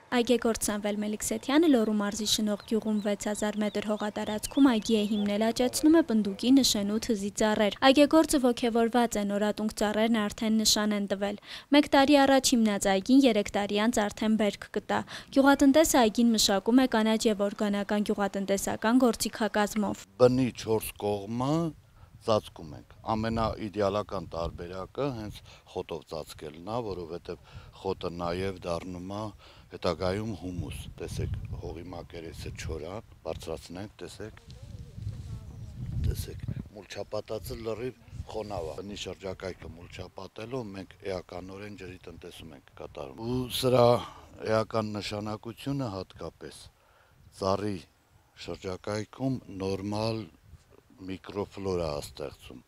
Այգեգործ Սամվել Մելիքսեթյանը Լոռու մարզի Շնող գյուղում 6000 մետր հողատարածքում այգի է հիմնել, աճեցնում է պնդուկի, նշենու, թզի ծառեր։ Այգեգործը ոգևորված է, նորատունկ ծառերն արդեն նշան են տվել։ 1 տարի առաջ հիմնած այգին 3 տարի անց արդեն բերք կտա։ Գյուղատնտեսը այգին մշակում է կանաչ եւ օրգանական գյուղատնտեսական գործիքակազմով։ Բնի 4 կողմը ծածկում ենք։ Ամենաիդեալական տարբերակը հենց խոտով ծածկելն է, որովհետև խոտը նաև դառնում է հետագայում հումուս։ Տեսեք, հողի մակերեսը չոր է, բարձրացնենք, տեսեք, մուլչապատածը լրիվ խոնավ է։ Բնի շրջակայքը մուլչապատելով մենք էականորեն ջրի տնտեսում ենք կատարում։ Ու սրա էական նշանակությունը հատկապես ծառի շրջակայքում նորմալ միկրոֆլորա է ստեղծում,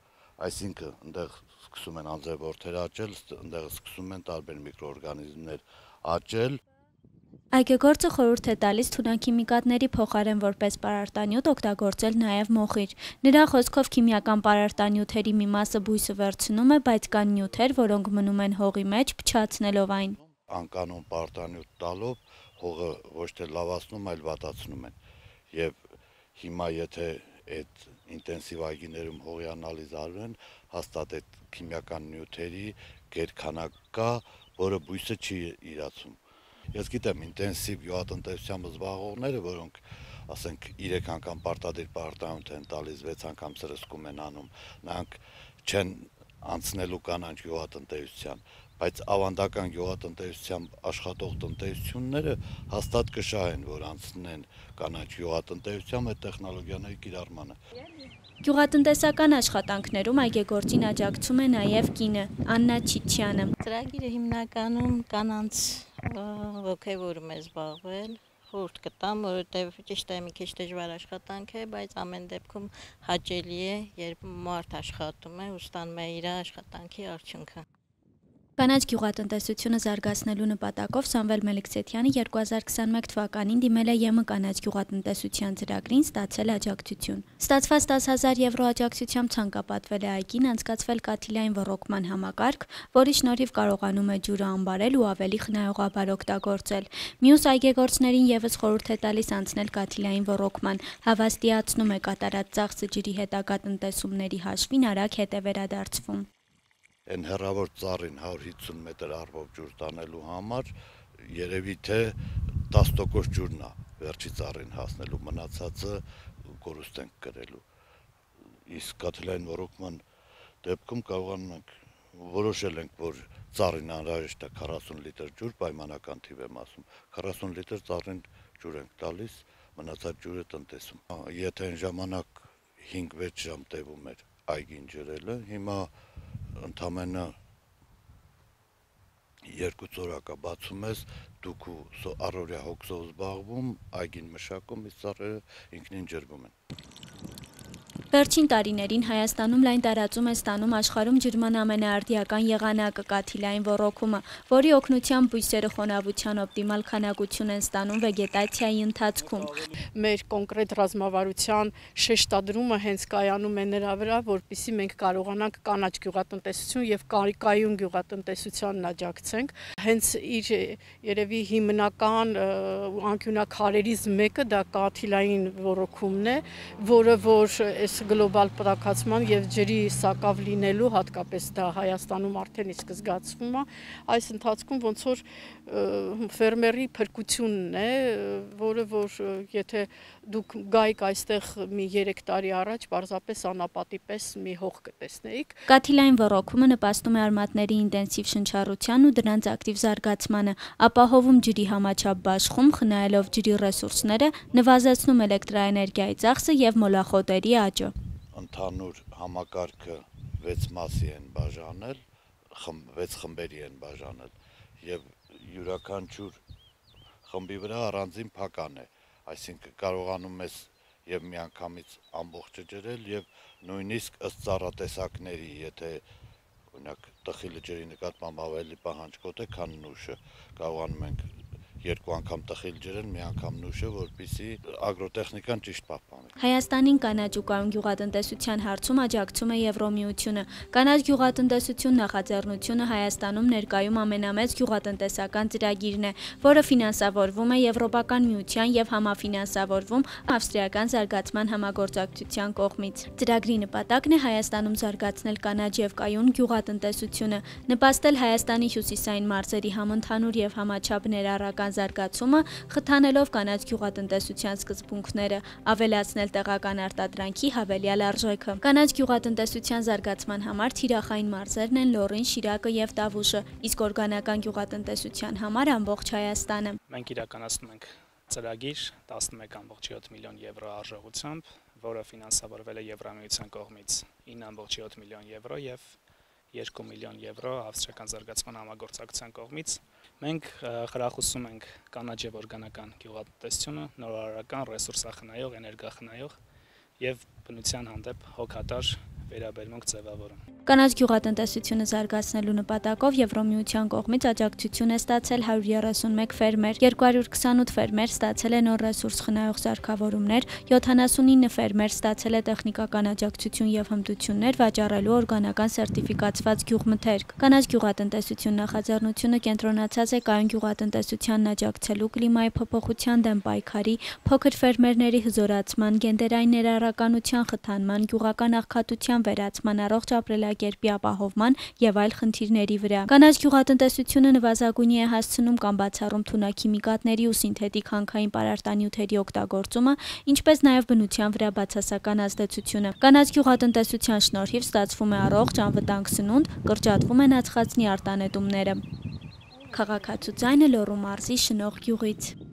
այսինքն այնտեղ սկսում են անձրևորդեր աճել, այնտեղ սկսում են տարբեր միկրոօրգանիզմներ աճել։ Այգեգործը խորհուրդ է տալիս թունաքիմիկատների փոխարեն որպես պարարտանյութ օգտագործել նաև մոխիր։ Նրա խոսքով քիմիական պարարտանյութերի մի մասը բույսը վերցնում է, բայց կան նյութեր, որոնք մնում են հողի մեջ, փչացնելով այն։ Անկանոն պարարտանյութ տալով հողը ոչ թե լավացնում, այլ վատացնում են։ Եվ հիմա եթե այդ ինտենսիվ այգիներում հողի անալիզ արվեն, հաստատ այդ քիմիական նյութերի գերքանակ կա, որը բույսը չի իրացում։ Ես գիտեմ ինտենսիվ գյուղատնտեսությամբ զբաղվողները, որոնք ասենք 3 անգամ պարտադիր պարարտանյութ են տալիս, 6 անգամ սրսկում են անում, նրանք չեն անցնելու կանաչ գյուղատնտեսության, բայց ավանդական գյուղատնտեսությամբ աշխատող տնտեսությունները հաստատ կշահեն, որ անցնեն կանաչ գյուղատնտեսությամբ այդ տեխնոլոգիաների կիրառմանը։ Գյուղատնտեսական աշխատանքներում այգեգործին աջակցում է նաև կինը՝ Աննա Չիչյանը։ Ծրագիրը հիմնականում կանանց ոգևորում է զբաղվել, խորհուրդ կտամ, որովհետև ճիշտ է մի քիչ դժվար աշխատանք է, բայց ամեն դեպքում հաճելի է, երբ մարդ աշխատում է ու ստանում է իր աշխատանքի արդյունքը։ Կանաչ գյուղատնտեսությունը զարգացնելու նպատակով Սամվել Մելիքսեթյանը 2021 թվականին դիմել է ԵՄ կանաչ գյուղատնտեսության ծրագրին, ստացել աջակցություն։ Ստացված 10,000 եվրո աջակցությամբ ցանկապատվել է այգին անցկացվել կաթիլային ոռոգման համակարգ, որի շնորհիվ կարողանում է ջուրը անբարել ու ավելի խնայողաբար օգտագործել։ Մյուս այգեգործներին եւս խորհուրդ է տալիս անցնել կաթիլային ոռոգման, հավաստիացնում է կատարած ծախսը ջրի հետագա տնտեսումների հաշվին արագ հետ է վերադարձվում։ Այն հեռավոր ծառին 150 մետր առվով ջուր տանելու համար երևի թե 10% ջուրն է վերջի ծառին հասնելու, մնացածը կորուստ ենք կրելու։ Իսկ կաթիլային ոռոգման դեպքում կարողանում ենք որոշել ենք, որ ծառին անհրաժեշտ է 40 լիտր ջուր, պայմանական թիվ եմ ասում, 40 լիտր ծառին ջուր ենք տալիս, մնացած ջուրը տնտեսում։ Եթե այն ժամանակ 5-6 ժամ տևում էր այգին ջրելը, հիմա ընդամենը 2 օրակա բացում ես, դուք առօրյա հոգսով զբաղվում, այգին մշակում, իսկ ծառերը ինքնին ջրվում են։ Վերջին տարիներին Հայաստանում լայն տարածում է ստանում աշխարհում ջրման ամենաարդիական եղանակը՝ կաթիլային ոռոգումը, որի օգնությամբ բույսերը խոնավության օպտիմալ քանակություն են ստանում վեգետացիայի ընթացքում։ Մեր կոնկրետ ռազմավարության շեշտադրումը հենց կայանում է նրա վրա, որպեսզի մենք կարողանանք կանաչ գյուղատնտեսություն եւ կայուն գյուղատնտեսությանն աջակցենք։ Հենց իր երևի հիմնական անկյունակարերից մեկը դա կաթիլային ոռոգումն է, որը որ գլոբալ պրակացման եւ ջրի սակավ լինելու, հատկապես դա Հայաստանում արդեն իսկ զգացվում է, այս ընթացքում ոնց որ ֆերմերի փրկությունն է, որը որ եթե դուք գայիք այստեղ մի 3 տարի առաջ պարզապես անապատի պես մի հող կտեսնեիք։ Կաթիլային ոռոգումը նպաստում է արմատների ինտենսիվ շնչառության ու դրանց ակտիվ զարգացմանը, ապահովում ջրի համաչափ բաշխում, խնայելով ջրի ռեսուրսները, նվազեցնում էլեկտրաէներգիայի ծախսը եւ մոլախոտերի աճը։ Ընդհանուր համակարգը 6 մասի են բաժանել, 6 խմբերի են բաժանել եւ յուրաքանչյուր խմբի վրա առանձին փական է, այսինքն կարողանում ես եւ միանգամից ամբողջը ջրել եւ նույնիսկ ըստ ծառատեսակների, եթե օրինակ տխիլը ջրի նկատմամբ ավելի պահանջկոտ է, քան նուշը, կարողանում ենք 2 անգամ տխիլ ջրեն, մի անգամ նուշը, որպեսզի ագրոտեխնիկան ճիշտ պահպանի։ Հայաստանին կանաչ ու կայուն գյուղատնտեսության հարցում աջակցում է Եվրոմիությունը։ Կանաչ գյուղատնտեսություն նախաձեռնությունը Հայաստանում ներկայում ամենամեծ գյուղատնտեսական ծրագիրն է, որը ֆինանսավորվում է Եվրոպական միության եւ համաֆինանսավորվում ավստրիական զարգացման համագործակցության կողմից։ Ծրագրի նպատակն է Հայաստանում զարգացնել կանաչ եւ կայուն գյուղատնտեսությունը, նպաստել Հայաստանի հյուսիսային մարզերի համընդհանուր եւ համաչափ ներառական զարգացումը, խթանելով կանաչ գյուղատնտեսության սկզբունքները, ավելացնել տեղական արտադրանքի հավելյալ արժեքը։ Կանաչ գյուղատնտեսության զարգացման համար թիրախային մարզերն են Լոռին, Շիրակը եւ Տավուշը, իսկ օրգանական գյուղատնտեսության համար ամբողջ Հայաստանը։ Մենք իրականացնում ենք ծրագիր 11.7 միլիոն եվրո արժողությամբ, որը ֆինանսավորվել է Եվրամիության կողմից 9.7 միլիոն եվրո եւ 2 միլիոն եվրո ավստրիական զարգացման համագործակցության կողմից։ Մենք խրախուսում ենք կանաչ եւ օրգանական գյուղատնտեսությունը, նորարարական, ռեսուրսախնայող, էներգախնայող եւ բնության հանդեպ հոգատար վերաբերմունք ձևավորում։ Կանաչ գյուղատնտեսությունը զարգացնելու նպատակով Եվրոմիության կողմից աջակցություն է ստացել 131 ֆերմեր, 228 ֆերմեր ստացել է նոր ռեսուրս խնայող սարքավորումներ, 79 ֆերմեր ստացել է տեխնիկական աջակցություն եւ հմտություններ վաճառելու օրգանական սերտիֆիկացված գյուղմթերք։ Կանաչ գյուղատնտեսություն նախաձեռնությունը կենտրոնացած է կայուն գյուղատնտեսությանն աջակցելու, կլիմայի փոփոխության դեմ պայքարի, փոքր ֆերմերների հզորացման, գենդերային ներառականության խթանման, գյուղական աղքատության վերացման, առողջ ապրելակերպի ապահովման եւ այլ խնդիրների վրա։ Կանաչ գյուղատնտեսությունը նվազագույնի է հասցնում կամ բացառում թունաքիմիկատների ու սինթետիկ հանքային պարարտանյութերի օգտագործումը, ինչպես նաեւ բնության վրա բացասական ազդեցությունը։ Կանաչ գյուղատնտեսության շնորհիվ ստացվում է առողջ, անվտանգ սնունդ, կրճատվում են ածխածնի արտանետումները։ Քաղաքացու ձայնը Լոռու մարզի Շնող գյուղից։